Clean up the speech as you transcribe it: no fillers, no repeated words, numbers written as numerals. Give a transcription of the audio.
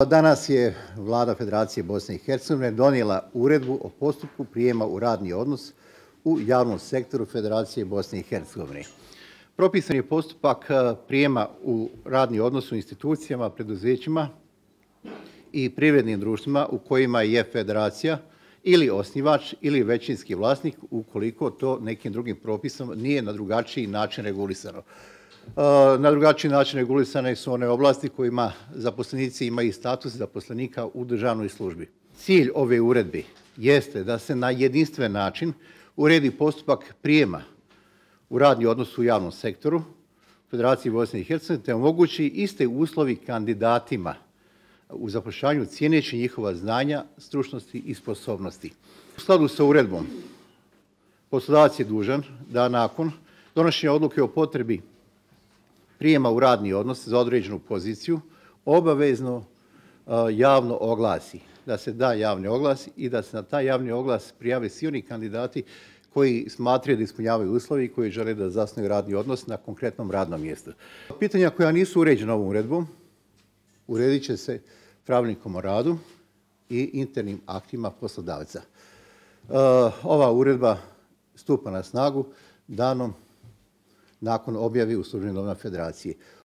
Danas je Vlada Federacije Bosne i Hercegovine donijela uredbu o postupku prijema u radni odnos u javnom sektoru Federacije Bosne i Hercegovine. Propisan je postupak prijema u radni odnos u institucijama, preduzećima i privrednim društvima u kojima je federacija ili osnivač ili većinski vlasnik, ukoliko to nekim drugim propisom nije na drugačiji način regulisano. Na drugačiji način regulisane su one oblasti kojima zaposlenici imaju status zaposlenika u državnoj službi. Cilj ove uredbe jeste da se na jedinstven način uredi postupak prijema u radni odnos u javnom sektoru Federacije Bosne i Hercegovine te omogući iste uslovi kandidatima u zapošljavanju cijeneći njihova znanja, stručnosti i sposobnosti. U skladu sa uredbom poslodavac je dužan da nakon donošenja odluke o potrebi prijema u radni odnos za određenu poziciju obavezno javno oglasi, da se da javni oglas i da se na taj javni oglas prijave svi oni kandidati koji smatraju da ispunjavaju uslovi i koji žele da zasnuju radni odnos na konkretnom radnom mjestu. Pitanja koja nisu uređena ovom uredbom uredit će se pravilnikom o radu i internim aktima poslodavca. Ova uredba stupa na snagu danom nakon objave u Službenim novinama Federacije.